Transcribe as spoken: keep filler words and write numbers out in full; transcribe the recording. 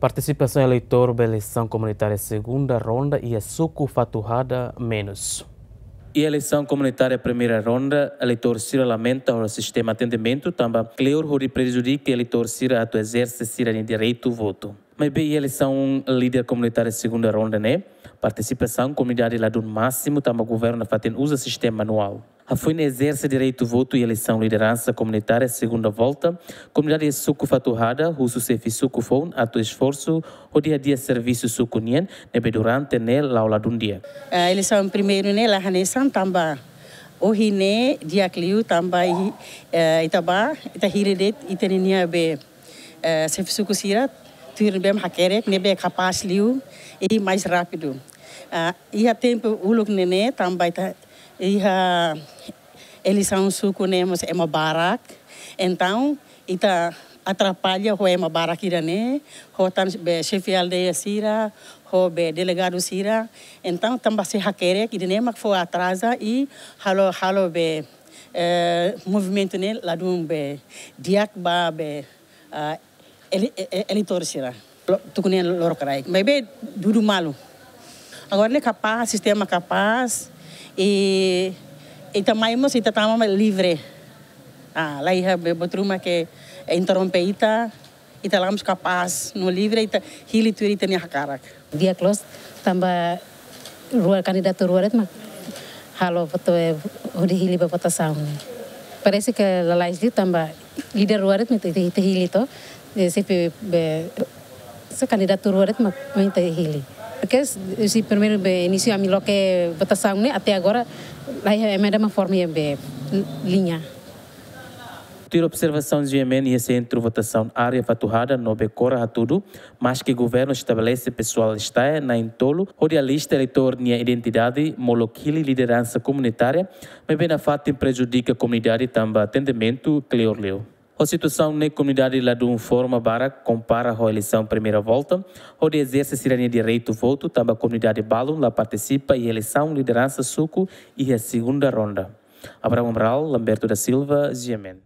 Partisipasaun eleitór ba eleisaun komunitária segunda ronda iha suku Fatuhada menus. Iha eleisaun komunitária primeira ronda, eleitór sira lamenta ho sistema atendimentu tanba kleur hodi prejudika eleitór sira atu ezerse sira-nia direitu votu. Maibé iha eleisaun líder komunitária segunda ronda ne'e, partisipasaun komunidade ladún másimu tanba governu nafatin uza sistema manuál. Hafoin ezerse direitu votu iha eleisaun lideransa komunitária segunda volta, komunidade suku Fatuhada husu xefe suku foun atu esforsu hodi hadi'a servisu suku nian ne'ebé durante ne'e la'o ladún di'ak. Eh, eleisaun primeiru ne'e la hanesan tanba ohin ne'e di'ak liu tanba i-, eh, ita bá, ita hili de'it ita-nia be, eh, xefe suku sira, tuir ne'ebé mak hakerek, ne'ebé kapás liu i mais rápidu. Ah, iha tempu uluk ne'e ne'e tanba ita iha eleisaun suku ne'e mós ema barak. Entaun, ita atrapalla ho ema barak ida-ne'e, ho tan be xefe aldeia sira, ho be delegadu sira. Entaun, tanba sei hakerek ida-ne'e mak fó atraza i halo, halo be, eh, movimentu ne'e ladún be di'ak ba be, ah, ele-, e-, e-, eleitór sira. Lo-, tuku nia lorokraik. Maibé dudu malu. Agora ne'e kapás, sistema kapás, i ita mai mós ita tama mai livre. Ah, la iha be buat ruma ke interrompe ita, ita la mós kapás, no livre ita hili tuir ita-nia hakarak. Di'ak loos tanba rua kandidatu rua de'it mak halo votu, eh, hodi hili ba votasaun. Parese ke lalais liu tanba líder rua de'it mak ita, ita hili to, eh, xefe be, se kandidatu rua de'it mak, mak ita hili. Porque se, se primeiru be inísiu ami loke votasaun ne'e até agora la iha ema ida mak forma iha be liña. Tuir observasaun G M N iha sentru votasaun área Fatuhada no be Kora hatudu, maske governu estabelese pesoál estaia na'in-tolu hodi alista eleitór nia identidade molok hili lideransa komunitária, maibé nafatin prejudika komunidade tanba atendimentu kleur liu. Ho situasaun ne'e komunidade ladún forma barak kompara ho eleisaun primeira volta, hodi ezerse sira-nia direitu votu tanba komunidade balun la partisipa iha eleisaun lideransa suku iha segunda ronda. Abraham Amaral, Lamberto da Silva, G M N.